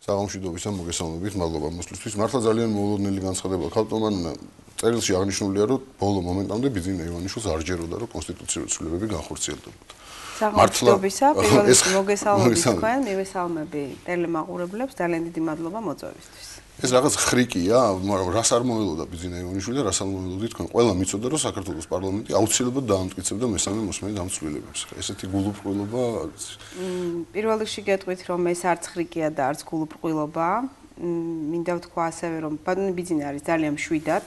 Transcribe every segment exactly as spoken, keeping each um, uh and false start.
საღამოშიდობის და მოგესალმებით, მადლობა მოსვლისთვის. მართლა ძალიან მოულოდნელი განცხადება ქალტომან წერილში აღნიშნულია, რომ ბოლო მომენტამდე ბიძინა ივანიშვილს არ ჯეროდა, რომ კონსტიტუციური ცვლილებები განხორციელდებოდა. საღამოშიდობისა, პირველ რიგში მოგესალმებით თქვენ, მივესალმები ტელემაყურებლებს, ძალიან დიდი მადლობა მოწვევისთვის. ეს რაღაც ხრიკია, მაგრამ რას არ მოელოდა ბიძინა ივანიშვილი და რას არ მოელოდა თქვენ? ყველა მიცოდა, რომ საქართველოს პარლამენტი აუცილებლად დაამტკიცებდა მესამე მოსმენით ამ ცვლილებებს. ესეთი გულუბრყვილობა არის. პირველ რიგში გეტყვით, რომ ეს არც ხრიკია და არც გულუბრყვილობა. მინდა ვთქვა ასევე, რომ ბატონი ბიძინა არის ძალიან მშვიდად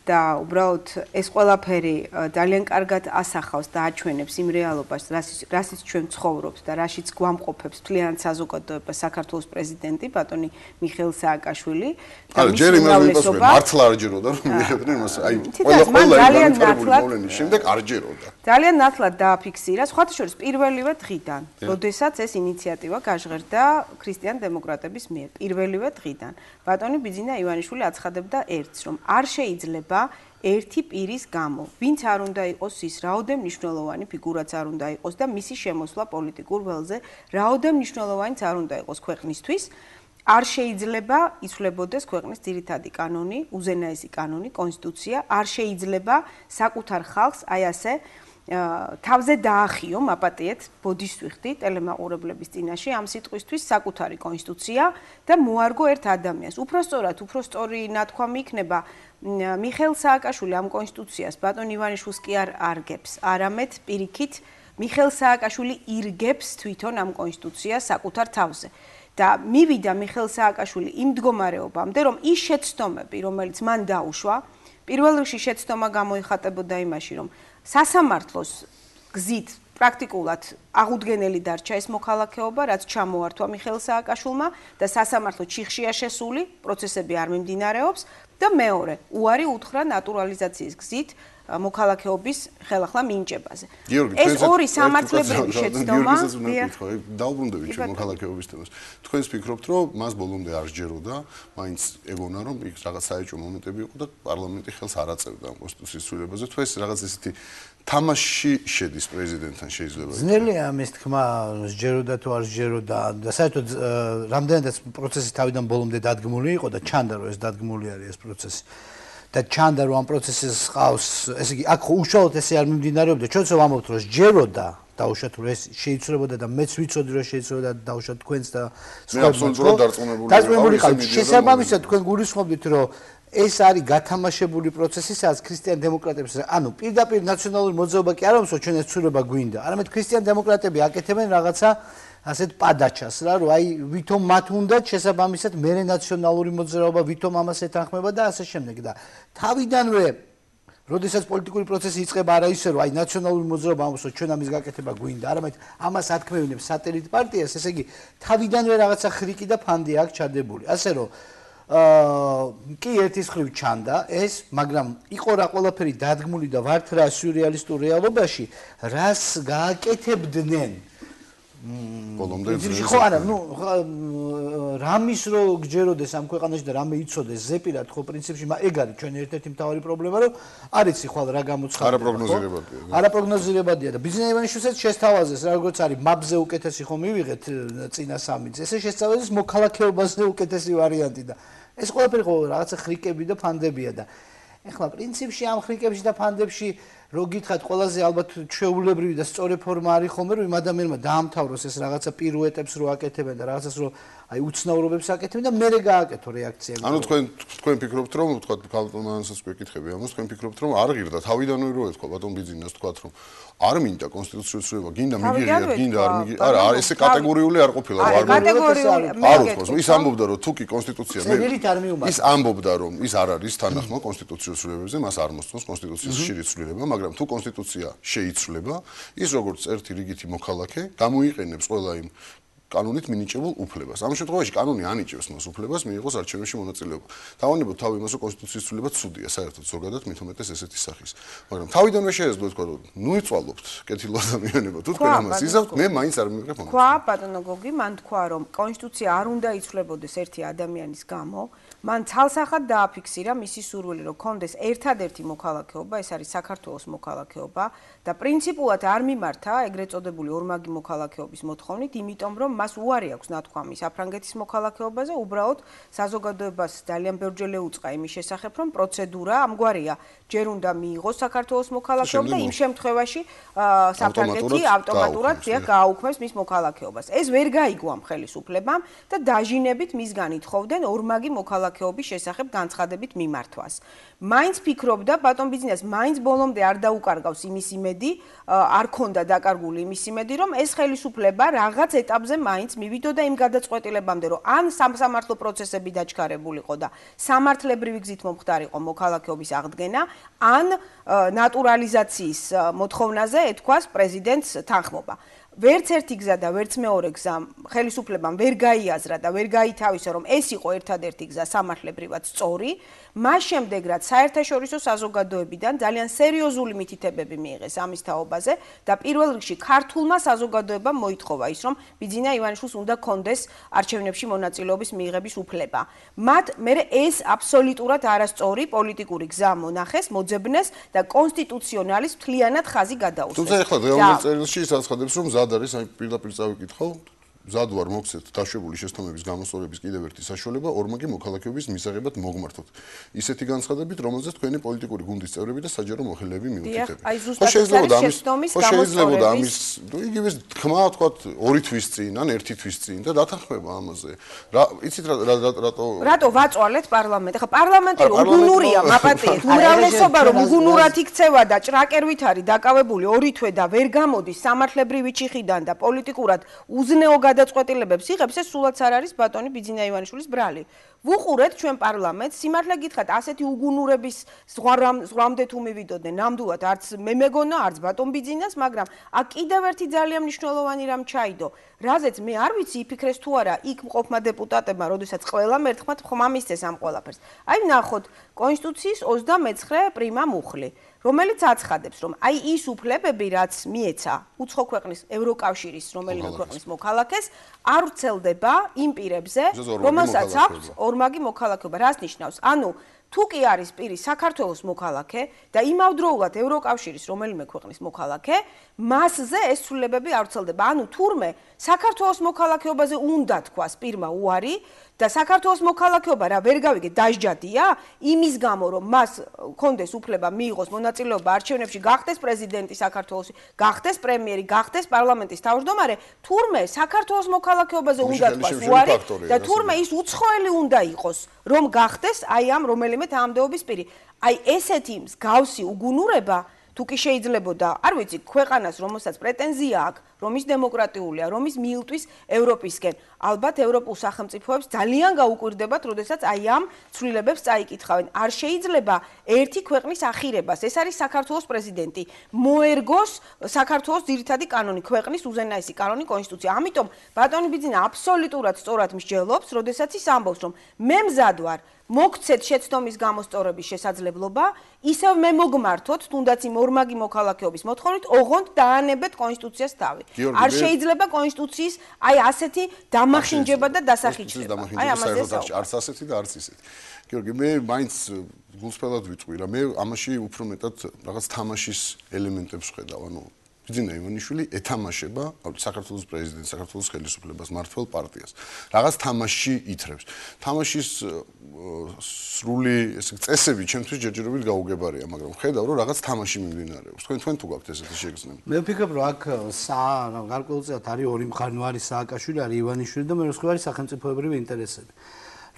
და უბრალოდ ეს ყველაფერი ძალიან კარგად ასახავს და აჩვენებს იმ რეალობას, რასაც ჩვენ ცხოვრობთ და რაშიც გვამყოფებს მთლიანად საზოგადოება საქართველოს პრეზიდენტი ბატონი მიხეილ სააკაშვილი. არა, ჯერ იმას მიპასუხე, მართლა არ ჯეროდა, რომ მიიღებდნენ იმას, აი, ყველა ყველა ძალიან ნათლად შემდეგ არ ჯეროდა. ძალიან ნათლად დააფიქსირა, სხვათა შორის პირველივე დღიდან, როდესაც ეს ინიციატივა გაჟღერდა ქრისტიან დემოკრატების მიერ, პირველივე დღიდან. ბატონი ბიძინა ივანიშვილი აცხადებდა ერთს, რომ არ შეიძლება ერთი პირის გამო, ვინც არ უნდა იყოს ის რაოდენ მნიშვნელოვანი ფიგურაც არ უნდა იყოს და მისი შემოსვლა პოლიტიკურ ველზე რაოდენ მნიშვნელოვანიც არ უნდა იყოს ქვეყნისთვის, არ შეიძლება იცვლებოდეს ქვეყნის ძირითადი კანონი, უზენაესი კანონი, კონსტიტუცია, არ შეიძლება საკუთარ ხალხს აი ასე თავზე დაახიო, მაპატიეთ, ბოდისვიხდი ტელემაყურებლების წინაშე ამ სიტყვისთვის საკუთარი კონსტიტუცია და მოარგო ერთ ადამიანს. უფრო სწორად, უფრო სწორი ნათქვამი იქნება მიხეილ სააკაშვილი ამ კონსტიტუციას ბატონ ივანიშვილს კი არ არგებს, არამედ პირიქით მიხეილ სააკაშვილი ირგებს თვითონ ამ კონსტიტუციას საკუთარ თავზე. და მივიდა მიხეილ სააკაშვილი იმ მდგომარეობამდე, რომ ის შეცდომები, რომელიც მან დაუშვა, პირველ რიგში შეცდომა გამოიხატებოდა იმაში, რომ სასამართლოს გზით პრაქტიკულად აღუდგენელი დარჩა ეს მოქალაქეობა, რაც ჩამოართვა მიხეილ სააკაშვილმა და სასამართლო ჩიხშია შესული, პროცესები არ მიმდინარეობს და მეორე, უარი უთხრა ნატურალიზაციის გზით მოქალაქეობის ხელახლა მინიჭებაზე. ეს ორი სამართლებრივი შეცდომა დაუბრუნდებით ჩვენ მოქალაქეობის თემას. თქვენს ფიქრობთ, რომ მას ბოლომდე არ სჯეროდა, მაინც ეგონა, რომ იქ რაღაც საეჭვო მომენტები იყო და პარლამენტი ხელს არ აწევდა ამ კონსტიტუციის ცვლილებაზე. თუ ეს რაღაც ესეთი თამაში შედის პრეზიდენტთან შეიძლება. ძნელია ამის თქმა, სჯეროდა თუ არ სჯეროდა და საერთოდ რამდენადაც პროცესი თავიდან ბოლომდე დადგმული იყო და ჩანდა რომ ეს დადგმული არის ეს პროცესი. და ჩანდა რომ ამ პროცესის ყავს, ესე იგი, აქ უშუალოდ ესე არ მიმდინარეობდა, ჩვენც რომ ამბობთ რომ სჯეროდა, დაუშვათ რომ ეს შეიცვლებოდა და მეც ვიცოდი რომ შეიცვლებოდა და დაუშვათ თქვენც და სხვა აბსოლუტურად დარწმუნებული დარწმუნებული ყავით. შესაბამისად თქვენ გულისხმობთ რომ ეს არის გათამაშებული პროცესი, სადაც ქრისტიან დემოკრატებს, ანუ პირდაპირ ნაციონალური მოძრაობა კი არ ამსო ჩვენ ეს ცვლილება გვინდა, არამედ ქრისტიან დემოკრატები აკეთებენ რაღაცა ასეთ პადაჩას რა, რომ აი ვითომ მათ უნდათ შესაბამისად მერე ნაციონალური მოძრაობა ვითომ ამას ეთანხმება და ასე შემდეგ და თავიდანვე როდესაც პოლიტიკური პროცესი იწყება არა ისე რომ აი ნაციონალური მოძრაობა ამბობს ჩვენ ამის გაკეთება გვინდა, არამედ ამას ათქმევინებს სატელიტ პარტიას, ესე იგი თავიდანვე რაღაცა ხრიკი და ფანდი აქვს ჩადებული. ასე რომ აა კი ერთის ხრივ ჩანდა ეს, მაგრამ იყო რა ყველაფერი დადგმული და ვართ რა სიურეალისტურ რეალობაში, რას გააკეთებდნენ ბოლომდე ხო არა, ნუ რამის რო გჯეროდეს ამ ქვეყანაში და რამე იცოდეს ზეპირად ხო პრინციპში ეგ არის ჩვენი ერთ-ერთი მთავარი პრობლემა, რომ არ იცი ხვალ რა გამოცხადდება. არაპროგნოზირებადია. არაპროგნოზირებადია და ბიძინა ივანიშვილსაც შესთავაზეს, როგორც არის მაბზე უკეთესი ხო მივიღეთ წინა სამიც. ესე შესთავაზეს მოქალაქეობაზე უკეთესი ვარიანტი და ეს ყველაფერი ხო რაღაცა ხრიკები და ფანდებია და ეხლა პრინციპში ამ ხრიკებში და ფანდებში რო გითხრათ ყველაზე ალბათ ჩვეულებრივი და სწორი ფორმა არის ხოლმე რომ იმ ადამიანმა დაამთავროს ეს რაღაცა პირუეტებს რო აკეთებენ და რაღაცას რო აი უცნაურობებს აკეთებენ და მერე გააკეთო რეაქცია. ანუ თქვენ თქვენ ფიქრობთ რომ თქვა ქალტომანსაც გვეკითხები ამას, თქვენ ფიქრობთ რომ არ ღირდა თავიდანვე რო ეთქვა ბატონ ბიძინას თქვათ რომ არ მინდა კონსტიტუციური ცვლილება, გინდა მიგიღია, გინდა არ მიგიღია. არა, არ ესე კატეგორიული არ ყოფილა, არ კატეგორიული არ უთქოს. ის ამბობდა რომ თუ კი კონსტიტუცია მე ის ამბობდა რომ ის არ არის თანახმა კონსტიტუციური ცვლილებებზე, მას არ მოსწონს კონსტიტუციის ხშირი ცვლილება, მაგრამ თუ კონსტიტუცია შეიცვლება, ის როგორც ერთი რიგითი მოქალაქე გამოიყენებს ყველა იმ კანონით მინიჭებულ უფლებას. ამ შემთხვევაში კანონი ანიჭებს მას უფლებას მიიღოს არჩევნებში მონაწილეობა. დავანებოთ თავი იმას, რომ კონსტიტუციის ცვლილება ცუდია, საერთოდ ზოგადად მით უმეტეს ესეთი სახის. მაგრამ თავიდანვე შეეძლო თქვა, რომ ნუ იწვალობთ კეთილ ადამიანებო, თუ თქვენ ამას იზავთ, მე მაინც არ მივიღებ ამას. თქვა ბატონო გოგი, მან თქვა, რომ კონსტიტუცია არ უნდა იცვლებოდეს ერთი ადამიანის გამო, მან ცალსახად დააფიქსირა მისი სურვილი, რომ კონდეს ერთადერთი მოქალაქეობა, ეს არის საქართველოს მოქალაქეობა და პრინციპულად არ მიმართა ეგრეთ წოდებული ორმაგი მოქალაქეობის მოთხოვნით, იმიტომ რომ მას უარი აქვს ნათქვამი საფრანგეთის მოქალაქეობაზე, უბრალოდ საზოგადოებას ძალიან ბევრჯერ ეუწყა იმის შესახებ, რომ პროცედურა ამგვარია, ჯერ უნდა მიიღოს საქართველოს მოქალაქეობა და იმ შემთხვევაში საფრანგეთი ავტომატურად გააუქმებს მის მოქალაქეობას. ეს ვერ გაიგო ამ ხელისუფლებამ და დაჟინებით მისგან ითხოვდნენ ორმაგი მოქალაქეობის შესახებ განცხადებით მიმართვას. მაინც ფიქრობდა ბატონ ბიძინას მაინც ბოლომდე არ დაუკარგავს იმის იმედი, არ ქონდა დაკარგული იმის იმედი, რომ ეს ხელისუფლება რაღაც ეტაპზე მაინც მივიდოდა იმ გადაწყვეტილებამდე, რომ ან სამსამართლო პროცესები დაჩქარებულიყო და სამართლებრივი გზით მომხდარიყო მოქალაქეობის აღდგენა, ან ნატურალიზაციის მოთხოვნაზე ეთქვას პრეზიდენტს თანხმობა. ვერც ერთი გზა და ვერც მეორე გზა ხელისუფლებამ ვერ გაიაზრა და ვერ გაითავისა, რომ ეს იყო ერთადერთი გზა სამართლებრივად სწორი, მას შემდეგ რაც საერთაშორისო საზოგადოებიდან ძალიან სერიოზული მითითებები მიიღეს ამის თაობაზე და პირველ რიგში ქართულმა საზოგადოებამ მოითხოვა ის, რომ ბიძინა ივანიშვილს უნდა კონდეს არჩევნებში მონაწილეობის მიიღების უფლება. მათ მერე ეს აბსოლუტურად არასწორი პოლიტიკური გზა მონახეს, მოძებნეს და კონსტიტუციონალის მთლიანად ხაზი გადაუსვეს. თუმცა ეხლა რეალურ წერილში ის აცხადებს, რომ მზად არის, აი პირდაპირ წავიკითხო, მზად ვარ მოგცეთ დაშვებული შეცდომების გამოსწორების კიდევ ერთი საშუალება ორმაგი მოქალაქეობის მისაღებად მოგმართოთ. ისეთი განცხადებით, რომელზეც თქვენი პოლიტიკური გუნდის წევრები და საჯარო მოხელეები მიუთითებენ. ხო შეიძლება და ამის შეიძლება და ამის იგივე თქმა თქვა ორი თვის წინ ან ერთი თვის წინ და დათანხმება ამაზე. რა იცით რატო რატო ვაწვალეთ პარლამენტი? ხა პარლამენტი უგუნურია, მაპატიეთ. უმრავლესობა რომ უგუნურად იქცევა და ჭრაკერვით არის დაკავებული ორი თვე და ვერ გამოდის სამართლებრივი ჩიხიდან და პოლიტიკურად უზნეო გადაწყვეტილებებს იღებს, ეს სულაც არ არის ბატონი ბიძინა ივანიშვილის ბრალი. ვუყურეთ ჩვენ პარლამენტს, სიმართლე გითხრათ, ასეთი უგუნურების ზღვამდე თუ მივიდოდნენ, ნამდვილად არც მე მეგონა, არც ბატონ ბიძინას, მაგრამ აქ კიდევ ერთი ძალიან მნიშვნელოვანი რამ ჩაიდო, რაზეც მე არ ვიცი იფიქრეს თუ არა იქ მყოფმა დეპუტატებმა, როდესაც ყველამ ერთხმად ხმა მისცეს ამ ყველაფერს. აი ნახოთ, კონსტიტუციის ოცდამეცხრე პრიმა მუხლი, რომელიც აცხადებს, რომ აი ის უფლებები, რაც მიეცა უცხო ქვეყნის ევროკავშირის რომელიმე ქვეყნის მოქალაქეს, არ ვრცელდება იმ პირებზე, რომელსაც აქვს ორმაგი მოქალაქეობა. რას ნიშნავს? ანუ თუ კი არის პირი საქართველოს მოქალაქე და იმავდროულად ევროკავშირის რომელიმე ქვეყნის მოქალაქე, მასზე ეს ცვლილებები არ ვრცელდება. ანუ თურმე საქართველოს მოქალაქეობაზე უნდა თქვას პირმა უარი და საქართველოს მოქალაქეობა რა ვერ გავიგე დაჟჯადია იმის გამო რომ მას კონდეს უფლება მიიღოს მონაწილეობა არჩევნებში, გახდეს პრეზიდენტი საქართველოს, გახდეს პრემიერი, გახდეს პარლამენტის თავმჯდომარე, თურმე საქართველოს მოქალაქეობაზე უნდა თქვას უარი და თურმე ის უცხოელი უნდა იყოს, რომ გახდეს აი ამ რომელიმე თანამდებობის პირი. აი ესეთი მსგავსი უგუნურება თუ კი შეიძლებოდა, არ ვიცი, ქვეყანას, რომელსაც პრეტენზია აქვს, რომ ის დემოკრატიულია, რომ ის მიილტვის ევროპისკენ, ალბათ ევროპულ სახელმწიფოებს ძალიან გაუკვირდებათ, როდესაც აი ამ ცვლილებებს წაიკითხავენ. არ შეიძლება ერთი ქვეყნის ახირებას, ეს არის საქართველოს პრეზიდენტი, მოერგოს საქართველოს ძირითადი კანონი, ქვეყნის უზენაესი კანონი, კონსტიტუცია. ამიტომ ბატონი ბიძინა აბსოლუტურად სწორად მსჯელობს, როდესაც ის ამბობს, რომ მე მზად ვარ მოგცეთ შეცდომის გამოსწორების შესაძლებლობა, ისევ მე მოგმართოთ, თუნდაც იმ ორმაგი მოქალაქეობის მოთხოვნით, ოღონდ დაანებეთ კონსტიტუციას თავი. არ შეიძლება კონსტიტუციის აი ასეთი დამახინჯება და დასახიჩება. აი ამაზე არც ასეთი და არც ისეთი. გიორგი, მე მაინც გულსფრად ვიტყვი რა, მე ამაში უფრო მეტად რაღაც თამაშის ელემენტებს ვხედავ, ანუ ბიძინა ივანიშვილი ეთამაშება საქართველოს პრეზიდენტს, საქართველოს ხელისუფლებას, მმართველ პარტიას. რაღაც თამაში ითრებს. თამაშის სრული ესე წესები ჩემთვის ჯერჯერობით გაუგებარია, მაგრამ ხედავ რომ რაღაც თამაში მიმდინარეობს. თქვენ თქვენ თუ გაქვთ ესეთი შეგრძნება? მე ვფიქრობ რომ აქ გარკვეულწილად არის ორი მხარნვარი სააკაშვილი, არის ივანიშვილი და მეორე მხრივ არის სახელმწიფოებრივი ინტერესები.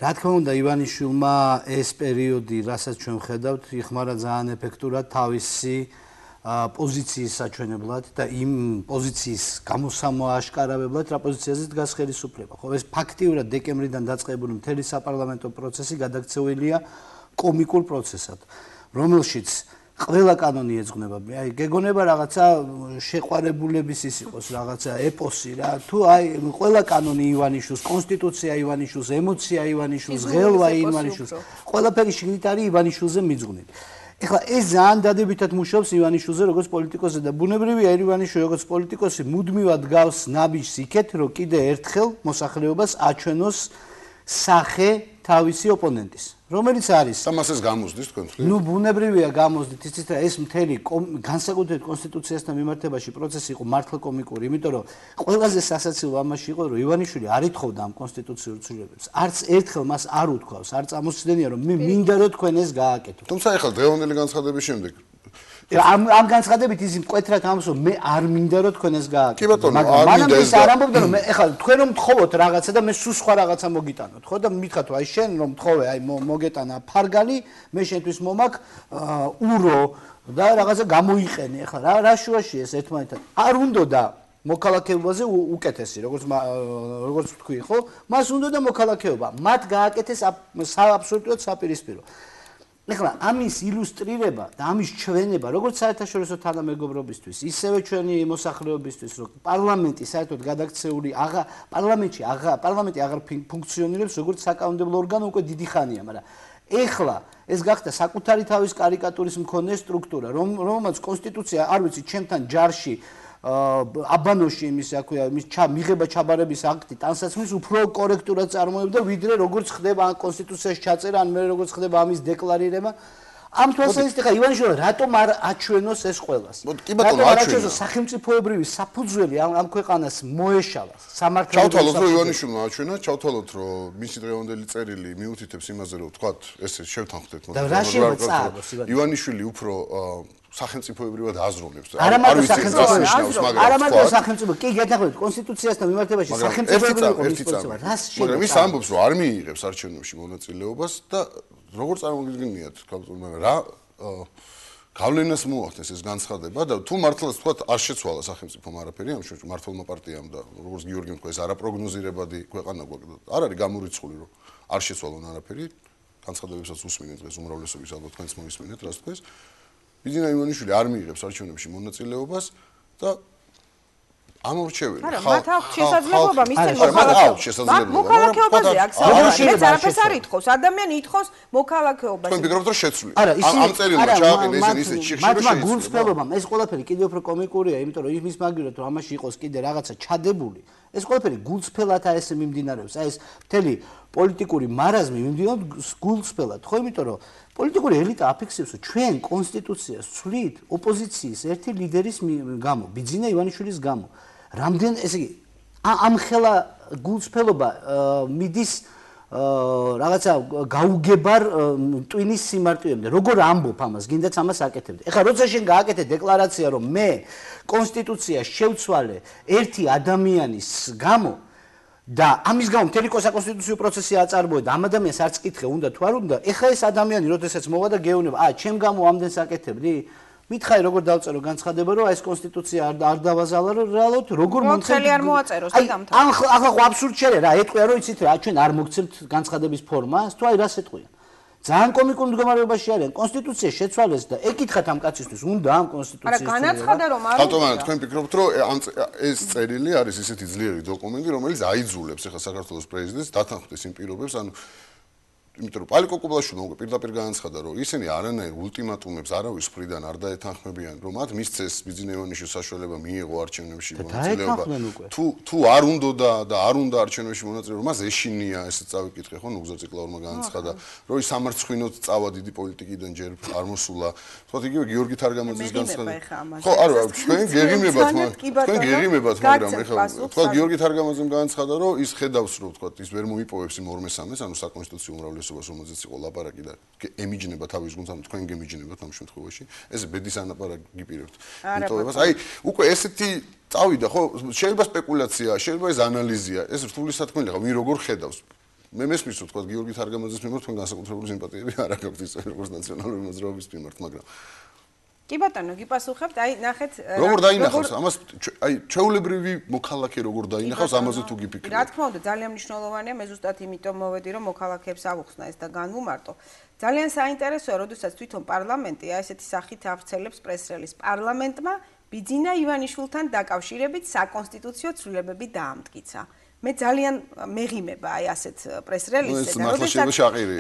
რა თქმა უნდა ივანიშვილმა ეს პერიოდი, რასაც ჩვენ ვხედავთ, იხმარა ძალიან ეფექტურად თავისი პოზიციის საჩვენებლად და იმ პოზიციის გამოსამოაშკარავებლად, რა პოზიციაზე დგას ხელისუფლება. ხო, ეს ფაქტიურად დეკემბრიდან დაწყებული მთელი საპარლამენტო პროცესი გადაქცეულია კომიკურ პროცესად, რომელშიც ყველა კანონი ეძღვნება. აი, გეგონება რაღაცა შეყვარებულების ის იყოს, რაღაცა ეპოსი რა. თუ აი ყველა კანონი ივანიშვილს, კონსტიტუცია ივანიშვილს, ემოცია ივანიშვილს, ღელვა ივანიშვილს, ყველაფერი შიგნით არის ივანიშვილზე მიძღვნილი. ეხლა ეს ძალიან დადებითად მუშაობს ივანიშვილზე როგორც პოლიტიკოსზე და ბუნებრივია ივანიშვილი როგორც პოლიტიკოსი მუდმივად გავს ნაბიჯს იქეთ, რომ კიდე ერთხელ მოსახლეობას აჩვენოს სახე თავისი ოპონენტის, რომელიც არის და მას ეს გამოსდის თქვენ თქვენ. ნუ ბუნებრივია გამოსდით იცით რა ეს მთელი განსაკუთრებით კონსტიტუციასთან მიმართებაში პროცესი იყო მართლა კომიკური, იმიტომ რომ ყველაზე სასაცილო ამაში იყო რომ ივანიშვილი არ ითხოვდა ამ კონსტიტუციურ ცვლილებებს. არც ერთხელ მას არ უთქვავს, არ წამოსცდენია რომ მე მინდა რომ თქვენ ეს გააკეთო. თუმცა ეხლა დღევანდელი განცხადების შემდეგ ამ ამ განცხადებით ის მკვეთრად ამბობს რომ მე არ მინდა რომ თქვენ ეს გააკეთო. კი ბატონო, არ მინდა ეს არ ამბობდა რომ მე ეხლა თქვენ რომ მთხოვოთ რაღაცა და მე სულ სხვა რაღაცა მოგიტანოთ, ხო და მითხათ აი შენ რომ მთხოვე აი მოგეტანა ფარგალი, მე შენთვის მომაკ ურო და რაღაცა გამოიყენე ეხლა რა რა შუაშია ეს ერთმანეთთან. არ უნდა და მოქალაქეობაზე უკეთესი, როგორც როგორც თქვი, ხო? მას უნდა და მოქალაქეობა. მათ გააკეთეს აბსოლუტურად საპირისპირო. ეხლა ამის ილუსტრირება და ამის ჩვენება, როგორც საერთაშორისო თანამეგობრობისთვის, ისევე ჩვენი მოსახლეობისთვის, რომ პარლამენტი საერთოდ გადაქცეული აღა პარლამენტში აღა პარლამენტი აღარ ფუნქციონირებს როგორც საკანონმდებლო ორგანო უკვე დიდი ხანია, მაგრამ ეხლა ეს გახდა საკუთარი თავის კარიკატურის მქონე სტრუქტურა, რომ რომელმაც კონსტიტუცია, არ ვიცი, ჩემთან ჯარში აბანოში იმის რა ქვია, იმის მიღება ჩაბარების აქტი ტანსაცმლის უფრო კორექტულად წარმოებდა, ვიდრე როგორც ხდება კონსტიტუციაში ჩაწერა, ან მე როგორც ხდება ამის დეკლარირება. ამ თვალსაზრისით ხა ივანიშვილი რატომ არ აჩვენოს ეს ყველას? კი ბატონო, აჩვენა. სახელმწიფოებრივი საფუძველი ამ ამ ქვეყანას მოეშალა სამართლებრივი. ჩავთვალოთ რომ ივანიშვილმა აჩვენა, ჩავთვალოთ რომ მისი დღევანდელი წერილი მიუთითებს იმაზე რომ თქვათ ესე შევთანხმდეთ მოდი. ივანიშვილი უფრო სახელმწიფოებრივად აზროვნებს. არ ამარტო სახელმწიფო, არ ამარტო სახელმწიფო, კი გეთახმებით კონსტიტუციასთან მიმართებაში სახელმწიფოებრივი კონსტიტუცია. რას შეიძლება? მაგრამ ის ამბობს რომ არ მიიღებს არჩევნებში მონაწილეობას და როგორ წარმოგიდგენიათ, მაგრამ რა გავლენას მოახდენს ეს განცხადება და თუ მართლაც თქვათ არ შეცვალა სახელმწიფომ არაფერი ამ შემთხვევაში მართლმა პარტიამ და როგორც გიორგიმ თქვა ეს არაპროგნოზირებადი ქვეყანა გვაქვს. არ არის გამორიცხული რომ არ შეცვალონ არაფერი, განცხადებებსაც უსმინეთ დღეს უმრავლესობის ალბათ თქვენც მოისმინეთ რას თქვეს. ბიძინა ივანიშვილი არ მიიღებს არჩევნებში მონაწილეობას და ამორჩეველი ხალხი მათ აქვს შესაძლებლობა მისცენ მოქალაქეობას. მოქალაქეობაზე აქვს საუბარი. არაფერს არ ითხოვს. ადამიანი ითხოვს მოქალაქეობას. თქვენ ფიქრობთ რომ შეცვლია? ამ წერილმა ჩააყენა ისინი ისე ჭიქში რომ შეცვლია. გულწრფელობამ ეს ყველაფერი კიდევ უფრო კომიკურია, იმიტომ რომ იმის მაგივრად რომ ამაში იყოს კიდე რაღაცა ჩადებული. ეს ყველაფერი გულწრფელადაა ესე მიმდინარეობს. აი ეს მთელი პოლიტიკური მარაზმი მიმდინარეობს გულწრფელად, ხო, იმიტომ რომ პოლიტიკური ელიტა აფიქსირებს, რომ ჩვენ კონსტიტუციას ვცვლით ოპოზიციის ერთი ლიდერის გამო, ბიძინა ივანიშვილის გამო. რამდენ ესე იგი ამ ხელა გულწრფელობა მიდის რაღაცა გაუგებარ ტვინის სიმარტივემდე. როგორ ამბობ ამას, გინდაც ამას აკეთებდი. ეხლა როცა შენ გააკეთე დეკლარაცია, რომ მე კონსტიტუციას შევცვალე ერთი ადამიანის გამო და ამის გამო მთელი საკონსტიტუციო პროცესი აწარმოე და ამ ადამიანს არც კითხე უნდა თუ არ უნდა, ეხლა ეს ადამიანი როდესაც მოვა და გეუბნება, აა ჩემ გამო ამდენს აკეთებდი? მითხარი როგორ დავწერო განცხადება რომ ეს კონსტიტუცია არ არ დავაზალა რომ რეალურად როგორ მომხელი არ მოაწეროს და დამთავრდა. ან ახლა ხო აბსურდ შეიძლება რა ეტყვია რომ იცით რა ჩვენ არ მოგცემთ განცხადების ფორმას თუ აი რას ეტყვიან. ძალიან კომიკურ მდგომარეობაში არიან კონსტიტუცია შეცვალეს და ეკითხათ ამ კაცისთვის უნდა ამ კონსტიტუციის არა განაცხადა რომ არ უნდა. ბატონო თქვენ ფიქრობთ რომ ეს წერილი არის ისეთი ძლიერი დოკუმენტი რომელიც აიძულებს ახლა საქართველოს პრეზიდენტს დათანხმდეს იმ პირობებს ანუ იმიტომ რომ პალიკო კუბლაშვილმა უკვე პირდაპირ განაცხადა რომ ისინი არანაირ ულტიმატუმებს არავის მხრიდან არ დაეთანხმებიან რომ მათ მისცეს ბიძინა ივანიშვილის საშუალება მიიღო არჩევნებში მონაწილეობა თუ თუ არ უნდა და არ უნდა არჩევნებში მონაწილეობა მას ეშინია ესე წავიკითხე ხო ნუგზარ ციკლაურმა განაცხადა რომ ის სამარცხვინოდ წავა დიდი პოლიტიკიდან ჯერ არ მოსულა თქვათ იგივე გიორგი თარგამაძის განცხადება ხო არა თქვენ გეღიმებათ თქვენ გეღიმებათ მაგრამ ეხლა თქვათ გიორგი თარგამაძემ განაცხადა რომ ის ხედავს რომ თქვათ ის ვერ მოიპოვებს იმ ორ მესამეს ანუ საკონსტიტუციო უმრავლესობას რომელზეც იყო ლაპარაკი და ემიჯნება თავის გუნდს ანუ თქვენ გემიჯნებათ ამ შემთხვევაში ეს ბედის ანაპარაკი გიპირებთ მიტოვებას აი უკვე ესეთი წავიდა ხო შეიძლება სპეკულაცია შეიძლება ეს ანალიზია ეს რთული სათქმელი ხა ვინ როგორ ხედავს მე მესმის რომ თქვა გიორგი თარგამაძის მიმართ თქვენ განსაკუთრებული სიმპათიები არ აქვს ის როგორც ნაციონალური მოძრაობის მიმართ მაგრამ კი ბატონო, გიპასუხებთ, აი ნახეთ როგორ დაინახავს ამას აი ჩვეულებრივი მოქალაქე როგორ დაინახავს ამაზე თუ გიფიქრებთ რა თქმა უნდა ძალიან მნიშვნელოვანია მე ზუსტად იმიტომ მოვედი რომ მოქალაქეებს ავუხსნა ეს და განვუმარტო ძალიან საინტერესოა როდესაც თვითონ პარლამენტი აი ესეთი სახით ავრცელებს პრეს-რელიზს პარლამენტმა ბიძინა ივანიშვილთან დაკავშირებით საკონსტიტუციო ცვლილებები დაამტკიცა მე ძალიან მეღიმება აი ასეთ პრეს-რელიზზე და როდესაც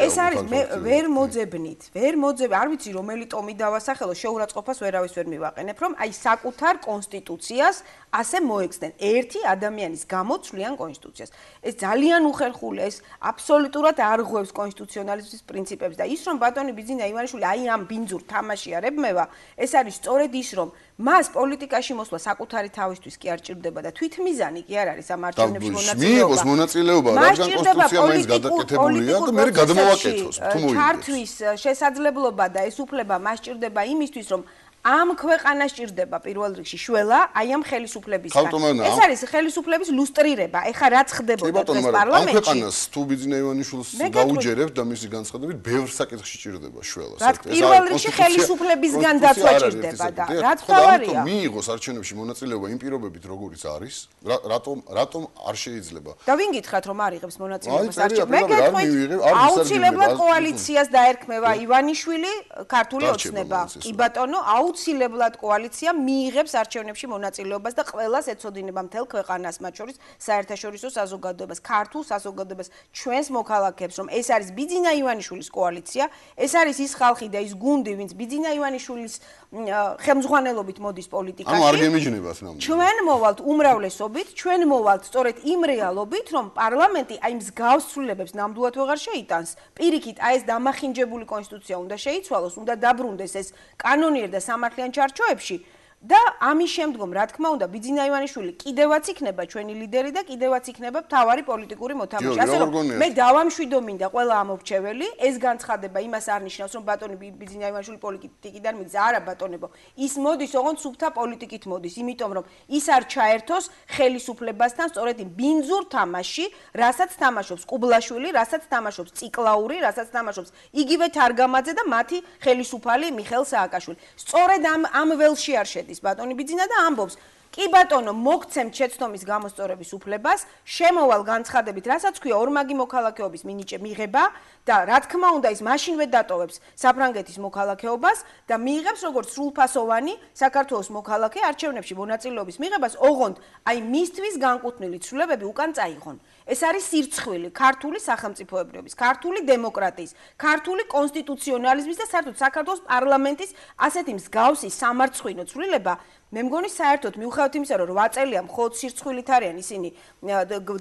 ეს არის მე ვერ მოძებნით, ვერ მოძებ, არ ვიცი რომელი ტომი დავასახელო, შეურაცხყოფას ვერავის ვერ მივაყენებ, რომ აი საკუთარ კონსტიტუციას ასე მოექცნენ. ერთი ადამიანის გამო ცვლიან კონსტიტუციას. ეს ძალიან უხერხულია, ეს აბსოლუტურად არ ღვევს კონსტიტუციონალიზმის პრინციპებს და ის რომ ბატონი ბიძინა ივანიშვილი აი ამ ბინძურ თამაში არ ებმევა, ეს არის სწორედ ის რომ მას პოლიტიკაში მოსვლა საკუთარი თავისთვის კი არ ჭირდება და თვითმიზანი კი არ არის ამ არჩევნებში მიიღოს მონაწილეობა, რადგან კონსტიტუცია მაინც გადაკეთებულია და მე გადმოვაკეთოს, თუ მოიგებს. ჩართვის შესაძლებლობა და ეს უფლება მას ჭირდება იმისთვის, რომ ამ ქვეყანას ჭირდება პირველ რიგში შველა, აი ამ ხელისუფლებისგან. ეს არის ხელისუფლების ლუსტრირება. ეხლა რაც ხდებოდა დღეს პარლამენტში. ამ ქვეყანას თუ ბიძინა ივანიშვილს გაუჯერებთ და მისი განცხადებით, ბევრ საკითხში ჭირდება შველა. პირველ რიგში ხელისუფლებისგან დაცვა ჭირდება და რაც თავარია. მიიღოს არჩევნებში მონაწილეობა იმ პირობებით, როგორიც არის, რატომ რატომ არ შეიძლება? და ვინ გითხრათ რომ არ იღებს მონაწილეობას არჩევნებში? მე გეტყვით, აუცილებლად კოალიციას დაერქმევა ივანიშვილი, ქართული ოცნება. კი ბატონო, აუცილებლად კოალიცია მიიღებს არჩევნებში მონაწილეობას და ყველას ეცოდინება მთელ ქვეყანას, მათ შორის საერთაშორისო საზოგადოებას, ქართულ საზოგადოებას, ჩვენს მოქალაქეებს, რომ ეს არის ბიძინა ივანიშვილის კოალიცია, ეს არის ის ხალხი და ის გუნდი, ვინც ბიძინა ივანიშვილის ხელმძღვანელობით მოდის პოლიტიკაში. ანუ არ გემიჯნებას ნამდვილად. ჩვენ მოვალთ უმრავლესობით, ჩვენ მოვალთ სწორედ იმ რეალობით, რომ პარლამენტი აი მსგავს ცვლილებებს ნამდვილად ვეღარ შეიტანს. პირიქით, აი ეს დამახინჯებული კონსტიტუცია უნდა შეიცვალოს, უნდა დაბრუნდეს ეს კანონიერ და სამართლიან ჩარჩოებში და ამის შემდგომ, რა თქმა უნდა, ბიძინა ივანიშვილი კიდევაც იქნება ჩვენი ლიდერი და კიდევაც იქნება მთავარი პოლიტიკური მოთამაშე. ასე რომ მე დავამშვიდო მინდა ყველა ამორჩეველი, ეს განცხადება იმას არ ნიშნავს, რომ ბატონი ბიძინა ივანიშვილი პოლიტიკიდან მიგზა. არა ბატონებო, ის მოდის ოღონდ სუფთა პოლიტიკით მოდის, იმიტომ რომ ის არ ჩაერთოს ხელისუფლებასთან სწორედ იმ ბინძურ თამაში, რასაც თამაშობს კუბლაშვილი, რასაც თამაშობს ციკლაური, რასაც თამაშობს იგივე თარგამაძე და მათი ხელისუფალი მიხეილ სააკაშვილი. სწორედ ამ ამ ველში არ შედის ბატონი ბიძინა და ამბობს კი ბატონო მოგცემთ შეცდომის გამოსწორების უფლებას შემოვალ განცხადებით რასაც ქვია ორმაგი მოქალაქეობის მინიჭე მიღება და რა თქმა უნდა ის მაშინვე დატოვებს საფრანგეთის მოქალაქეობას და მიიღებს როგორც სრულფასოვანი საქართველოს მოქალაქე არჩევნებში მონაწილეობის მიღებას ოღონდ აი მისთვის განკუთვნილი ცვლილებები უკან წაიღონ ეს არის სირცხვილი ქართული სახელმწიფოებრიობის ქართული დემოკრატიის ქართული კონსტიტუციონალიზმის და საერთოდ საქართველოს პარლამენტის ასეთი მსგავსი სამარცხვინო ცვლილება მე მგონი საერთოდ მიუხედავად იმისა რომ რვა წელია მხოლოდ სირცხვილით არიან ისინი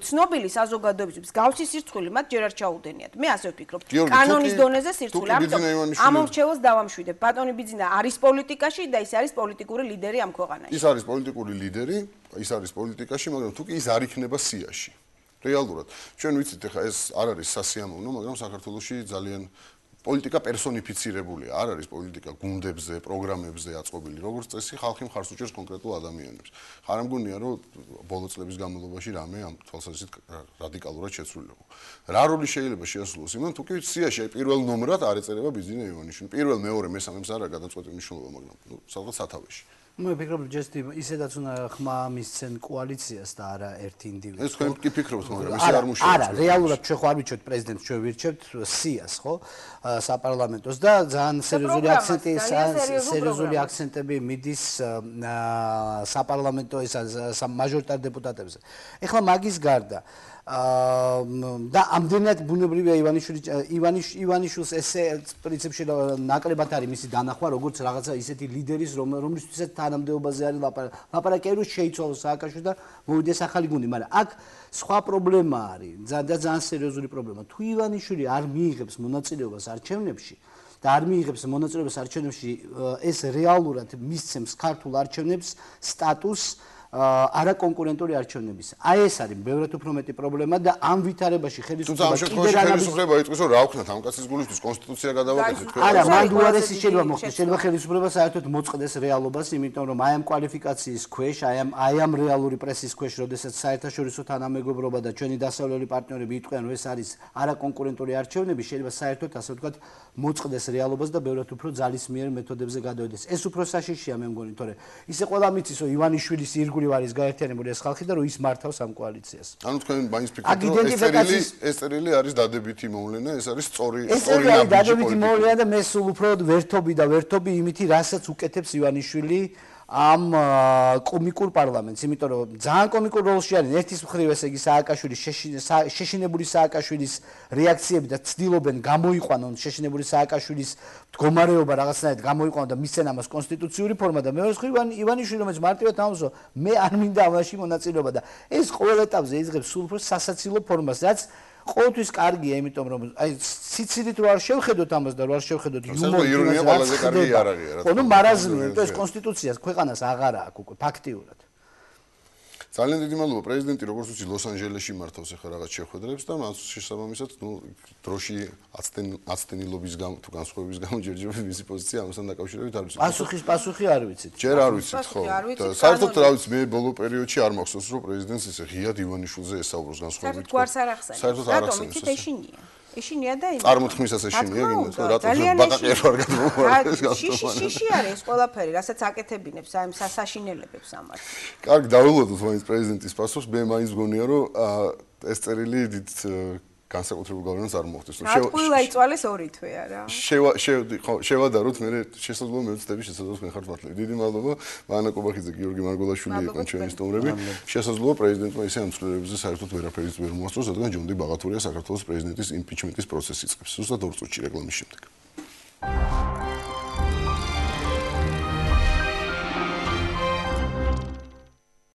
ცნობილი საზოგადოების მსგავსი სირცხვილი მათ ჯერ არ ჩაუდენიათ მე ასე ვფიქრობ კანონის დონეზე სირცხვილი ამიტომ ამორჩევას დავამშვიდებ ბატონი ბიძინა არის პოლიტიკაში და ის არის პოლიტიკური ლიდერი ამ ქვეყანაში ის არის პოლიტიკური ლიდერი ის არის პოლიტიკაში მაგრამ თუ კი ის არ იქნება სიაში რეალურად ჩვენ ვიცით ახლა ეს არ არის სასიამოვნო მაგრამ საქართველოში ძალიან პოლიტიკა პერსონიფიცირებულია, არ არის პოლიტიკა გუნდებზე, პროგრამებზე აწყობილი, როგორც წესი, ხალხი მხარს უჭერს კონკრეტულ ადამიანებს. ხარ ამგონია, რომ ბოლო წლების განმავლობაში რამე ამ თვალსაზრისით რადიკალურად შეცვლილიყო. რა როლი შეიძლება შეასრულოს იმან, თუ კი სიაში აი პირველ ნომრად არ ეწერება ბიძინა ივანიშვილი. პირველ, მეორე, მესამეებს არ არის გადაწყვეტილი მნიშვნელობა, მაგრამ ნუ სადღაც სათავეში. მე ვფიქრობ, ჯესტი ისედაც უნდა ხმა მისცენ კოალიციას და არა ერთ ინდივიდს. ეს თქვენ კი ფიქრობთ, მაგრამ ისე არ მუშაობს. არა, რეალურად ჩვენ ხო არ ვიცით პრეზიდენტს, ჩვენ ვირჩევთ სიას, ხო? საპარლამენტოს და ძალიან სერიოზული აქცენტი, სერიოზული აქცენტები მიდის საპარლამენტო ეს მაჟორიტარ დეპუტატებზე. ეხლა მაგის გარდა და ამდენად ბუნებრივია ივანიშვილი ივანიშ ივანიშვილს ესე პრინციპში ნაკლებად არის მისი დანახვა როგორც რაღაცა ისეთი ლიდერის რომლისთვისაც თანამდებობაზე არის ლაპარაკი რომ შეიცვალოს სააკაშვილი და მოვიდეს ახალი გუნდი მაგრამ აქ სხვა პრობლემა არის ძალიან ძალიან სერიოზული პრობლემა თუ ივანიშვილი არ მიიღებს მონაწილეობას არჩევნებში და არ მიიღებს მონაწილეობას არჩევნებში ეს რეალურად მისცემს ქართულ არჩევნებს სტატუსს არა კონკურენტული არჩევნების. აი ეს არის ბევრად უფრო მეტი პრობლემა და ამ ვითარებაში ხელისუფლება კიდევ რა ხელისუფლება იტყვის რომ რა ვქნათ ამ კაცის გულისთვის კონსტიტუცია გადავაკეთეთ თქვენ. არა, მან უარესი შეიძლება მოხდეს. შეიძლება ხელისუფლება საერთოდ მოწყდეს რეალობას, იმიტომ რომ აი ამ კვალიფიკაციის ქვეშ, აი ამ აი ამ რეალური პრესის ქვეშ, როდესაც საერთაშორისო თანამეგობრობა და ჩვენი დასავლელი პარტნიორები იტყვიან რომ ეს არის არა კონკურენტული არჩევნები, შეიძლება საერთოდ ასე ვთქვათ მოწყდეს რეალობას და ბევრად უფრო ძალისმიერ მეთოდებზე გადავიდეს. ეს უფრო საშიშია მე მგონი, თორე ისე ყველა მიცის რომ ივანიშვილის ირგვლივ არის გაერთიანებული ეს ხალხი და რომ ის მართავს ამ კოალიციას. ანუ თქვენ მაინც ფიქრობთ რომ ეს წერილი ეს წერილი არის დადებითი მოვლენა, ეს არის სწორი სწორი ნაბიჯი. ეს დადებითი მოვლენა და მე სულ უფრო ვერთობი და ვერთობი იმითი, რასაც უკეთებს ივანიშვილი ამ კომიკურ პარლამენტს, იმიტომ რომ ძალიან კომიკურ როლში არის ერთის მხრივ ესე იგი სააკაშვილის შეშინებული სააკაშვილის რეაქციები და ცდილობენ გამოიყვანონ შეშინებული სააკაშვილის მდგომარეობა რაღაცნაირად გამოიყვანონ და მისცენ ამას კონსტიტუციური ფორმა და მეორე მხრივ ივანიშვილი რომელიც მარტივად ამბობს მე არ მინდა ამაში მონაწილეობა და ეს ყოველ ეტაპზე იღებს სულ უფრო სასაცილო ფორმას რაც ყოველთვის კარგია, იმიტომ რომ აი სიცილით რო არ შევხედოთ ამას და რო არ შევხედოთ იუმორით ირონია ყველაზე კარგი არ არის რა. ხო, ნუ მარაზმია, იმიტომ ეს კონსტიტუციას ქვეყანას აღარ აქვს უკვე ფაქტიურად. ძალიან დიდი მადლობა პრეზიდენტი როგორც ვიცი ლოს-ანჯელესში მართავს ახლა რაღაც შეხვედრებს და მას შესაბამისად ნუ დროში აცდენილობის გამო თუ განსხვავების გამო ჯერჯერობით მისი პოზიცია ამასთან დაკავშირებით არ ვიცი. პასუხის პასუხი არ ვიცით. ჯერ არ ვიცით ხო. და საერთოდ რა ვიცი მე ბოლო პერიოდში არ მახსოვს რომ პრეზიდენტს ესე ღიად ივანიშვილზე ესაუბროს განსხვავებით. საერთოდ გვარს არ ახსენებს. საერთოდ არ ახსენებს. რატომ იცით ეშინია? ეშინია და იმის. წარმოთქმისას ეშინია გინდა თუ რატო ბაყაყიერ ვარ გადმოვარდეს გასტომა. შიში არის ეს ყველაფერი, რასაც აკეთებინებს აი ამ სასაშინელებებს ამათ. კარგი, დავილოდოთ მაინც პრეზიდენტის პასუხს. მე მაინც მგონია რომ ეს წერილი დიდ განსაკუთრებულ გავლენას არ მოხდეს. შევა იწვალეს ორი თვე არა? შევა ხო შევადაროთ მე შესაძლოა მე ვწდები შესაძლოა მე ხარ მართლები. დიდი მადლობა მანა კობახიძე, გიორგი მარგოლაშვილი იყვნენ ჩვენი სტუმრები. შესაძლოა პრეზიდენტმა ისე ამ ცვლილებებზე საერთოდ ვერაფერიც ვერ მოასწროს, რადგან ჯონ დი ბაღათურია საქართველოს პრეზიდენტის იმპიჩმენტის პროცესი იწყებს. ზუსტად ორ წუთში რეკლამის შემდეგ.